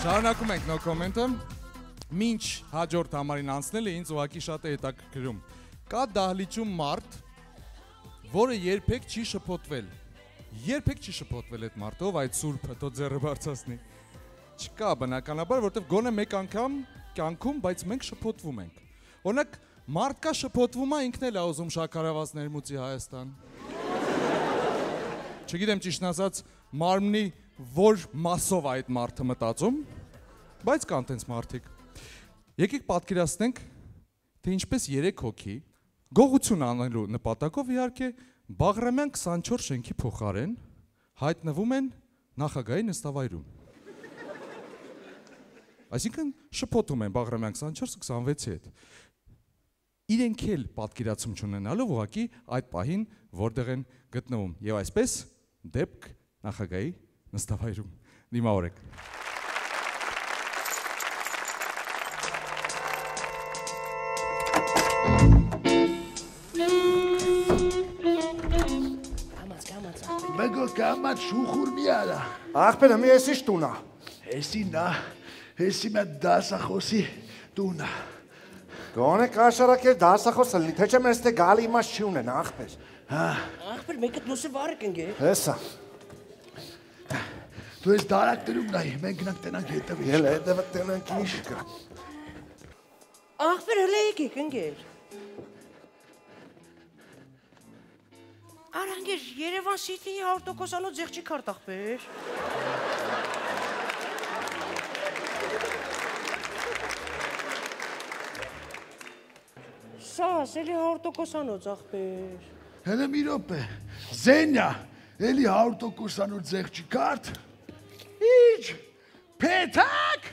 Շարունակում ենք No Comment-ը։ Մինչ հաջորդ համարին անցնելը ինձ ուղղակի շատ է հետաքրքրում։ Կա դահլիճում մարդ, որը երբեք չի շփոթվել։ Երբեք չի շփոթվել այդ մարդով, այդ սուրբը, թող ձեռը բարձրացնի։ Չկա բնականաբար, որտեվ գոնե մեկ անգամ կյանքում, բայց մենք շփոթվում ենք։ Օրինակ, մարդ կա շփոթվում է, ինքն էլ է ուզում շաքարավազ ներմուծի Հայաստան։ Չգիտեմ ճիշտն ասած, մարմնի որ մասով այդ մարդը մտածում, բայց կան տենց մարդիկ։ Եկեք պատկերացնենք, թե ինչպես 3 հոգի գողություն անելու նպատակով իհարկե Բաղրամյան 24 շենքի փոխարեն հայտնվում են նախագահի նստավայրում։ Այսինքն շփոթում են Բաղրամյան 24-26-ի հետ։ Իրենք էլ պատկերացում չունենալով ուղղակի այդ պահին որտեղ են գտնվում եւ այսպես դեպք նախագահի նստավայրում դիմավորեք։ Բգո կամած շուխուր մի արա։ Ախպերը մի էսի շտունա։ Էսի նա, էսի մա դասախոսի տունա։ Գոնե կաշարակեր դասախոսը լինի, թե չէ մեր ստե գալի իմաստ չի ունեն, ախպեր։ Ախպեր, մեկը դուսը վարը կնգե։ Հեսա։ Դու ես դարակտերում նայի, մենք գնանք տենանք հետևի։ Էլ հետևը տենանք ինչ կա։ Ախպեր, հլե եկեք ընգեր։ Արանգեր, Երևան Սիթիի 100%-անոց ձեղջի քարտ ախպեր։ Սաս, էլի 100%-անոց ախպեր։ Հելը մի րոպե, Զենյա, էլի 100%-անոց ձեղջի քարտ։ Ինչ, փեթակ։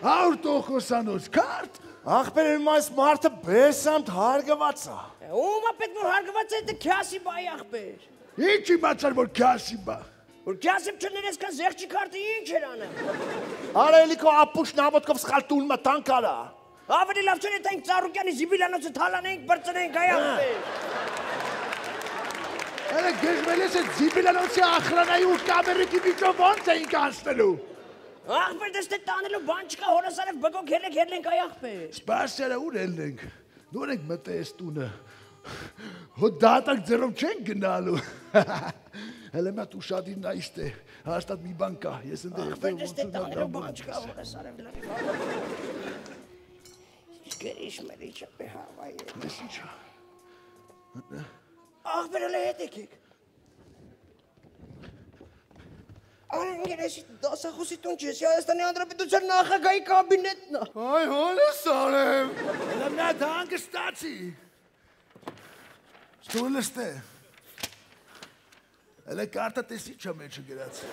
100%-անոց քարտ։ Ախպեր էլ մայս մարդը բեսամտ հարգված է։ Ում է պետք որ հարգված է դե քյասի բայ ախպեր։ Ինչ իմացար որ քյասի բա։ Որ քյասիբ չներես կան ձեղջի քարտը ինչ էր անեմ։ Արա էլի քո ապուշն ավոտքով սխալ տուն մտան կարա։ Ավելի լավ չէ թե Ծառուկյանի Զիբիլյանոցը թալանենք, բրծնենք այ ախպեր։ Հələ գեժվել ես այդ Զիբիլյանոցի ախրանայի ու կամերիկի միջով ոնց էինք անցնելու։ Ախպեր դες թե տանելու բան չկա, հորս արև բգոք հերենք այ ախպեր։ Սպասերը ուր ելնենք, նոր ենք մտե ես տունը, հո դատակ ձերով չենք գնալու, հələ մատ ուշադիր նայիստ է, հաստատ մի բան կա, ես ընդեղ ախպեր դες թե տանելու բան չկա, հորս արև լավի Գերիշ մերիչը բեհավայ է։ Ես ինչա։ Ախպեր հլե հետ եկեք։ Արանգեր էսի դասախոսի տուն չես, Հայաստանի Հանրապետության նախագահի կաբինետն է։ Այ հոնես արեմ։ Հələ մատ հանգստացի։ Ստուլը ստե։ Հələ կարտը տեսի չա մեջը գրած։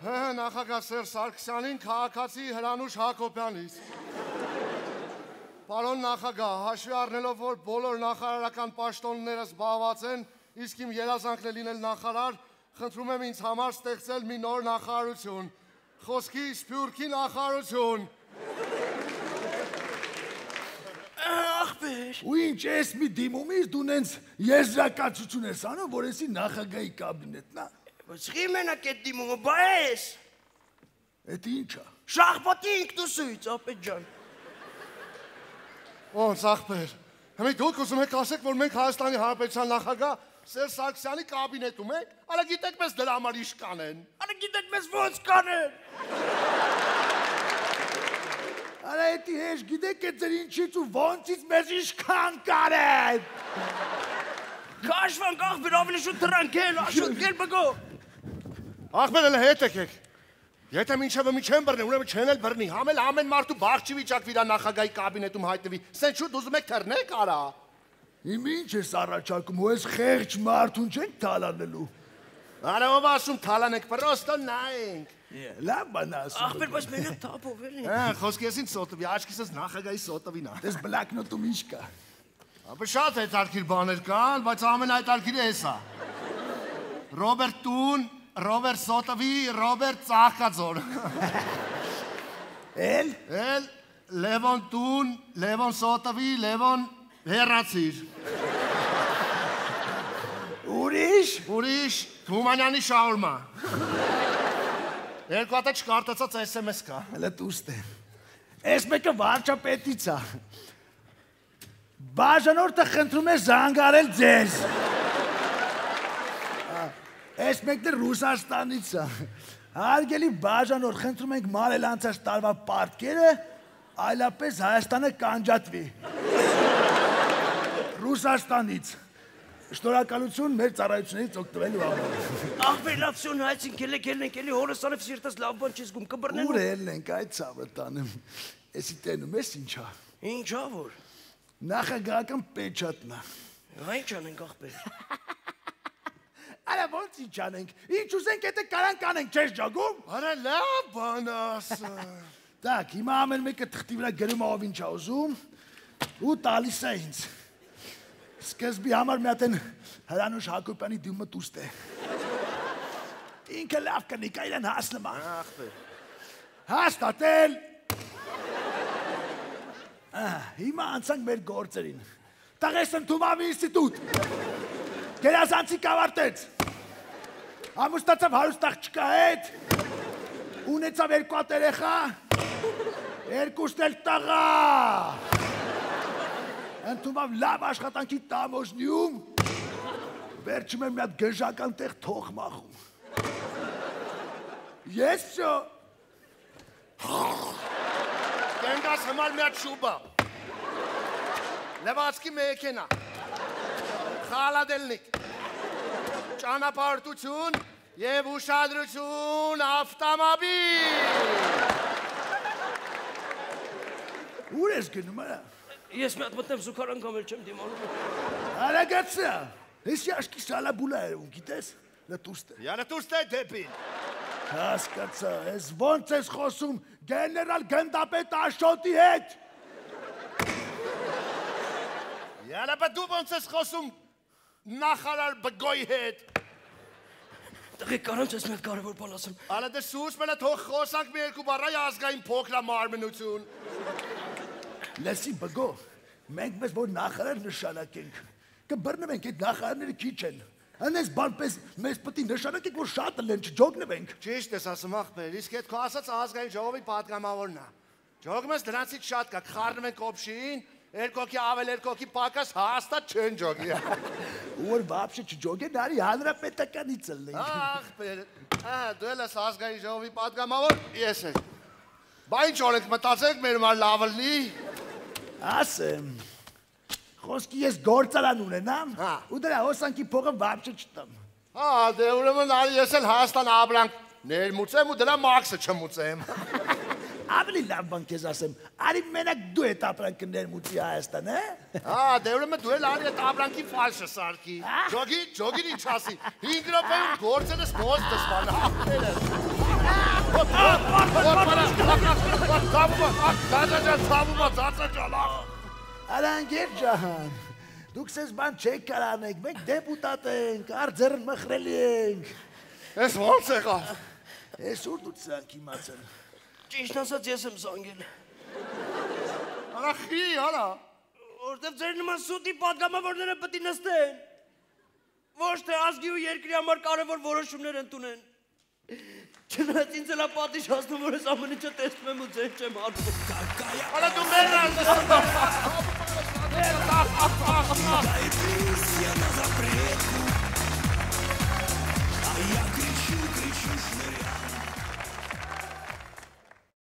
Հա, նախագահ Սերժ Սարգսյանին քաղաքացի Հրանուշ Հակոբյանից։ Պարոն նախագահ, հաշվի առնելով, որ բոլոր նախարարական պաշտոնները զբաղված են, իսկ իմ երազանքն է լինել նախարար, խնդրում եմ ինձ համար ստեղծել մի նոր նախարարություն։ Խոսքի Սփյուռքի նախարարություն։ Ախպեր։ Ու ինչ ես մի դիմումից դու նենց եզրակացություն ես անում, որ եսի նախագահի կաբինետն է։ Ոսղի մենակ էդ դիմումը, բա ես։ Էդ ինչա։ Շախպատի ինքնուսույց, ապետ ջան։ Ոնց ախպեր, հիմա դուք ուզում եք ասեք, որ մենք Հայաստանի Հանրապետության նախագահ Սերժ Սարգսյանի կաբինետում ենք, արա գիտեք մեզ դրա համար ինչ կանեն։ Արա գիտեք մեզ ոնց կանեն։ Արա էդի հեշ գիտեք է ձեր ինչից ու ոնցից մեզ ինչքան կարեն։ Կաշվանք ախպեր, ավելի շուտ դրանք էլ, աշուտ գել բգո։ Ախպեր էլ հետ եկեք։ Եթե մինչև մի չեն բռնի, ուրեմն չեն էլ բռնի, համել ամեն մարդու բաղ չի վիճակվի դա նախագահի կաբինետում հայտնվի, սենց շուտ ուզում եք թռնեք արա։ Իմ ինչ ես առաջարկում, ու ես խեղճ մարդուն չենք թալանելու։ Արա ով ասում թալանեք, պրոստո նայենք։ Լավ բան ասում։ Ախպեր, բայց մենակ թափով էլի։ Խոսքի ես ինձ սոտվի, աչքիսս նախագահի սոտվին է։ Դες բլակնոտում ինչ կա։ Ապա շատ հետարքիր բաներ կան, բայց ամենահետարքիրը էս է։ Ռոբերտ Տուն, Ռոբերտ Սոտովի, Ռոբերտ Ծաղկաձոր։ Էլ Լևոն Տուն, Լևոն Սոտովի, Լևոն Հեռացիր։ Ուրիշ։ Ուրիշ Գումանյանի շաուրմա։ Երկու հատ չկարտացած SMS կա։ Հələ դուստ է։ Այս մեկը վարչապետից է։ Բաժանորդը խնդրում է զանգարել ձեզ։ Այս մեկն է Ռուսաստանից է։ Հարգելի բաժանորդ, խնդրում ենք մարել անցած տարվա պարտքերը, այլապես Հայաստանը կանջատվի։ Ռուսաստանից։ Շնորհակալություն մեր ծառայությունից օգտվելու համար։ Ախպերացիոն հայցին կելենք էլի հորս անև սիրտս լավ բան չես գում կբռնեն։ Ուր ելնենք այդ ցավը տանեմ։ Էսի տենում ես ինչա։ Ինչա որ։ Նախագահական պեչատնա։ Ինչ անենք ախպեր։ Արա ոնց ինչ անենք։ Ինչ ուզենք եթե կարան կանենք, չես ջագում։ Արա լավ բան ասա։ Так, հիմա ամեն մեկը թղթի վրա գրում ով ինչ է ուզում ու տալիս է ինձ։ Սկզբի համար մի հատ են Հրանուշ Հակոբյանի դիմը դուստ է։ Ինքը լավ կնի, կայլան հասնում է։ Ախպեր։ Հաստատել։ Հիմա անցանք մեր գործերին։ Տղեսն Թումավի ինստիտուտ։ Գերազանցի կավարտեց։ Ամուսնացավ հարուստ աղջկա հետ։ Ունեցավ երկու հատ երեխա։ Երկուսն էլ տղա։ Ընդունավ լավ աշխատանքի տամոժնիում։ Վերջում եմ մի հատ գժական տեղ թող մախում։ Ես շո։ Կենգաս հմար մի հատ շուբա։ Լևացքի մեքենա։ Խալադելնիկ։ Ճանապարհորդություն եւ ուշադրություն ավտոմոբիլ։ Ուր ես գնում արա։ Ես մի հատ մտնեմ զուգարան կամ էլ չեմ դիմանում։ Արագացա։ Ես աշկի սալաբուլա եմ, գիտես։ Լտուստ է։ Յա լտուստ է դեպին։ Հասկացա, ես ոնց ես խոսում գեներալ գնդապետ Աշոտի հետ։ Յա լապա դու ոնց ես խոսում նախարար Բգոյի հետ։ Տղեկ կարանց ես մի հատ կարևոր բան ասեմ։ Ալա դե սուս մենա թող խոսանք մի երկու բառայ ազգային փոքր մարմնություն։ Լսի Բգո, մենք մեզ որ նախարար նշանակենք, կբռնվենք այդ նախարարները քիչ են։ Անես բանպես մեզ պետք է նշանակենք որ շատ են, չջոգնվենք։ Ճիշտ ես ասում ախպեր, իսկ այդ քո ասած ազգային ժողովի պատգամավորն է։ Ջոգում ես դրանցից շատ կա, խառնում ենք օբշին, երկոքի ավել երկոքի պակաս հաստատ չեն ջոգի։ Որ բաբշե չջոգեն, արի հանրապետականից ելնենք։ Ախպեր, դու էլ ես ազգային ժողովի պատգամավոր, ես եմ։ Բա ինչ օրենք մտածենք մեր մար լավ լինի։ Ասեմ, խոսքի ես գործարան ունենամ, ու դրա հոսանքի փողը բաբշե չտամ։ Դե ուրեմն արի ես էլ Հայաստան ապրանք ներմուծեմ ու դրա մաքսը չմուծեմ։ Ավելի լավ բան քեզ ասեմ, արի մենակ դու այդ ապրանքը ներմուծի Հայաստան, դե ուրեմն դու էլ արի այդ ապրանքի ֆալշը սարքի։ Ջոգին ինչ ասի, 5 րոպեում գործերս նոց դսման Արանգեր ջահան, դուք սեզ բան չեք կարանեք, մենք դեպուտատ ենք, արձերն մխրելի ենք։ Ես ոնց եղավ։ Ես ուր դու ծանք իմացել։ Ճիշտ ասած ես եմ զանգել։ Արա խի, արա։ Որտեվ ձեր նման սուտի պատգամավորները պետք է նստեն։ Ոչ թե ազգի ու երկրի համար կարևոր որոշումներ ընդունեն։ Չնայած ինձ էլ պատիժ հասնում որ ես ամեն ինչը տեսնում եմ ու ձեր չեմ անում։ Արա դու մեր А я кричу, кричу шныряю.